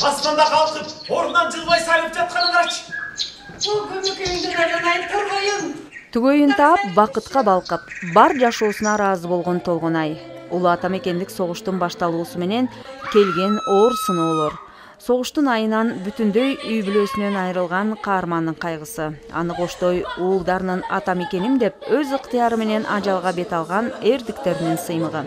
Асманда калкып, ордунан жылбай сайрап жатканын карачы. Бул көмөкөйүндөн айранайын Торгойун. Түгөйүн таап, бакытка балкып, бар жашоосуна ыраазы болгон Толгонай. Улуу ата мекендик согуштун башталуусу менен келген оор сыноолор. Согуштун айынан бүтүндөй үй бүлөсүнөн айрылган каармандын кайгысы. Аны коштой уулдарынын ата мекеним деп өз ыктыяры менен ажалга бет алган эрдиктеринин сыймыгы.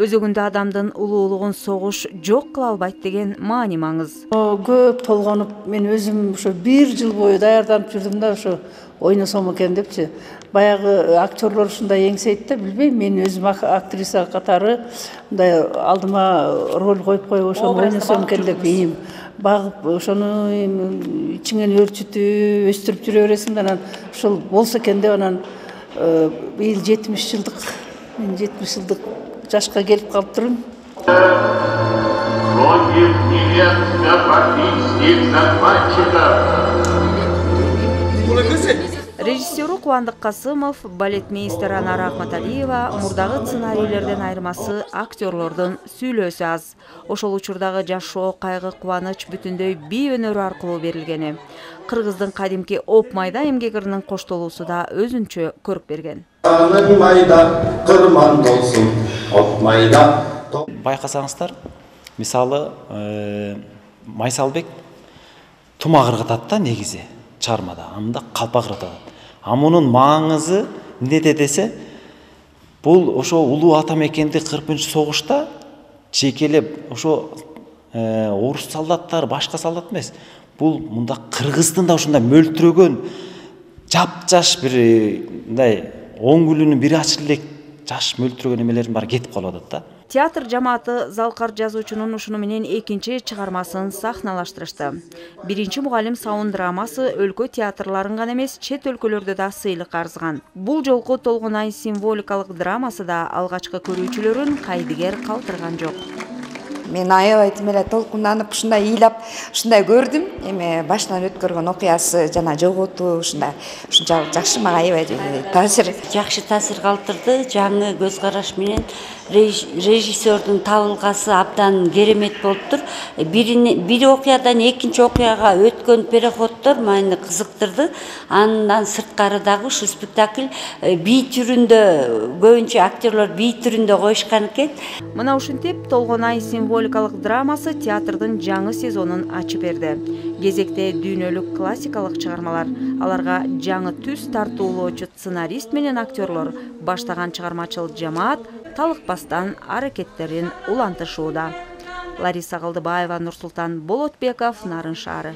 Өзөгүндө адамдын улуулугун согуш жок кыла албайт деген маани маңыз. Көп толгонуп, мен өзүм ошо 1 жыл бою даярданып жүрдүм да, ошо ойносом экен депчи. Баягы актерлор ушундай эңсейт да, билбейм, мен өзүм актриса катары мындай алдыма роль коюп ошону ойносом экен деп ийим багып, ошону ичиңен өөрчүтүп, өстүрүп жүрө бересиң да, анан ушул болсо экен деп анан быйыл 70 жылдык, мен 70 жылдык жашка келип калыптырмын. Режиссеру Кубандык Касымов, балетмейстер Анара Акматалиева мурдагы сценарийлерден айырмасы актерлордун сүйлөөсү аз. Ошол учурдагы жашоо, кайгы, кубаныч бүтүндөй бий өнөрү аркылуу берилгени. Кыргыздын кадимки оп майда эмгек ырынын коштолуусу да өзүнчө көрүп берген. Майда кырман болсун, оп майда. Байкасаңыздар, мисалы Майсалбек тума кыргытат да негизи чармада, анда калпак кыргытат. А мунун маңызы эмнеде десе, бул ошо улуу ата мекенди 40-согушта жекелеп ошо орус солдаттар, башка солдат эмес. Бул мында Кыргыздын да ушундай мөлтүрөгөн, жап-жаш бир мындай 10 күлүнүн бири ачылып элек жаш мөлтүрөгөн эмелердин баары кетип калып атат да. Театр жамааты Залкар жазуучунун ушуну менен экинчи чыгармасын сахналаштырышты. Биринчи мугалим сауын драмасы өлкө театрларын гана эмес, чет өлкөлөрдө да сыйлык арзыган. Бул жолку Толгонай символикалык драмасы да алгачкы көрүүчүлөрүн кайдыгер калтырган жок. Мен аябай эле толкунданып, ушундай ыйлап, ушундай көрдүм. Эми башынан өткөргөн окуясы жана жоготуу ушундай жакшы, мага аябай жакшы таасир калтырды. Жаңы көз караш менен режиссердун табылгасы абдан керемет болуптур. Бир окуядан экинчи окуяга өткөн переходдор мени кызыктырды. Андан сырткары дагы ушу спектакль бий түрүндө, көбүнчө актерлор бий түрүндө коюшкан экен. Мына ушинтип Толгонай символикалык драмасы театрдын жаңы сезонун ачып берди. Кезекте дүйнөлүк классикалык чыгармалар, аларга жаңы түс тартуулоочу сценарист менен актерлор баштаган чыгармачыл жамаат талыкпастан аракеттерин улантышууда. Лариса Калдыбаева, Нурсултан Болотбеков, Нарын шаары.